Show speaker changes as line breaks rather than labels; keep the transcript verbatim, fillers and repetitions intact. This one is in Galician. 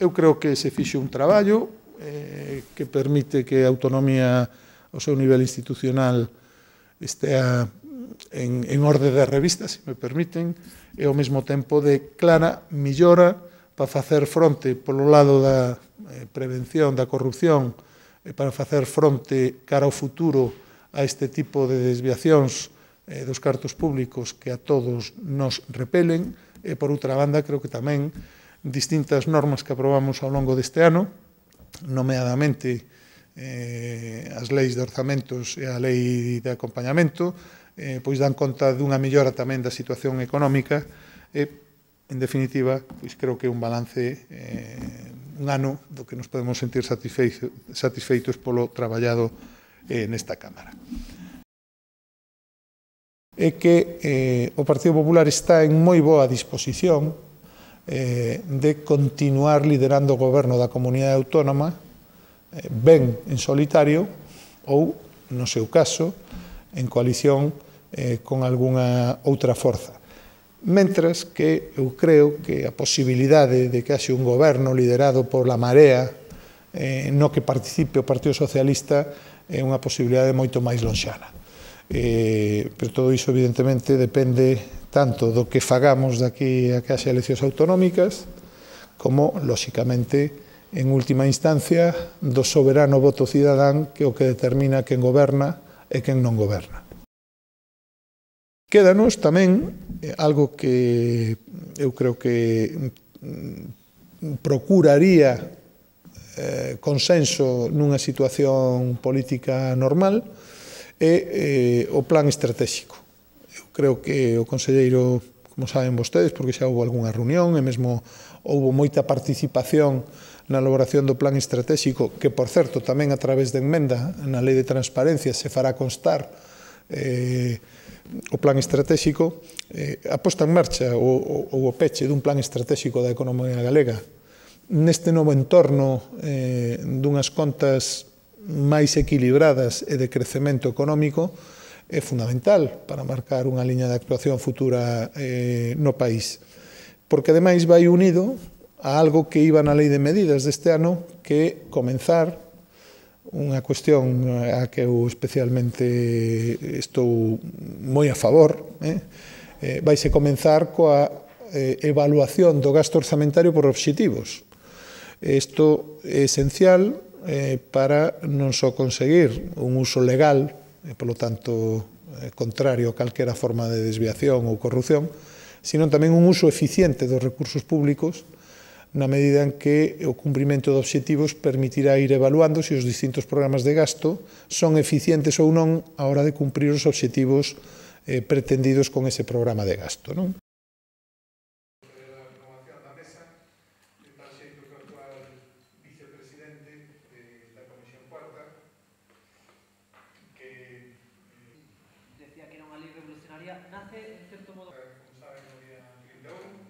Eu creo que se fixe un traballo eh, que permite que a autonomía ao seu nivel institucional estea en, en orde de revista, se me permiten, e ao mesmo tempo de clara millora para facer fronte polo lado da eh, prevención da corrupción e para facer fronte cara ao futuro a este tipo de desviacións eh, dos cartos públicos que a todos nos repelen. E, por outra banda, creo que tamén distintas normas que aprobamos ao longo deste ano, nomeadamente eh, as leis de orzamentos e a lei de acompañamento, eh, pois dan conta dunha mellora tamén da situación económica e, en definitiva, pois creo que é un balance, eh, un ano do que nos podemos sentir satisfeitos, satisfeitos polo traballado eh, nesta Cámara. É que eh, o Partido Popular está en moi boa disposición eh, de continuar liderando o goberno da comunidade autónoma, eh, ben en solitario ou, no seu caso, en coalición eh, con algunha outra forza. Mentras que eu creo que a posibilidade de que haxe un goberno liderado pola Marea eh, no que participe o Partido Socialista é unha posibilidade moito máis lonxana. Eh, pero todo iso, evidentemente, depende tanto do que fagamos daqui a que haxe eleccións autonómicas como, lóxicamente, en última instancia, do soberano voto cidadán que é o que determina quen goberna e quen non goberna. Quédanos tamén algo que eu creo que procuraría eh, consenso nunha situación política normal, é eh, o plan estratégico. Eu creo que o conselleiro, como saben vostedes, porque xa houve algunha reunión e mesmo houve moita participación na elaboración do plan estratégico, que, por certo, tamén a través de enmenda na Lei de Transparencia se fará constar eh, o plan estratégico, eh, a posta en marcha ou, ou o peche dun plan estratégico da economía galega neste novo entorno eh, dunhas contas máis equilibradas e de crecemento económico é fundamental para marcar unha liña de actuación futura eh, no país. Porque, ademais, vai unido a algo que iba na Lei de Medidas deste ano, que é comenzar unha cuestión a que eu especialmente estou moi a favor, eh? Eh, vaise comenzar coa eh, evaluación do gasto orzamentario por obxectivos. Isto é esencial eh, para non só conseguir un uso legal, e, polo tanto, eh, contrario a calquera forma de desviación ou corrupción, sino tamén un uso eficiente dos recursos públicos na medida en que o cumprimento de obxectivos permitirá ir evaluando se os distintos programas de gasto son eficientes ou non a hora de cumprir os obxectivos eh, pretendidos con ese programa de gasto, non?
Decía que era unha lei revolucionaria, nace, en certo modo...
Como saben, no día trinta e un,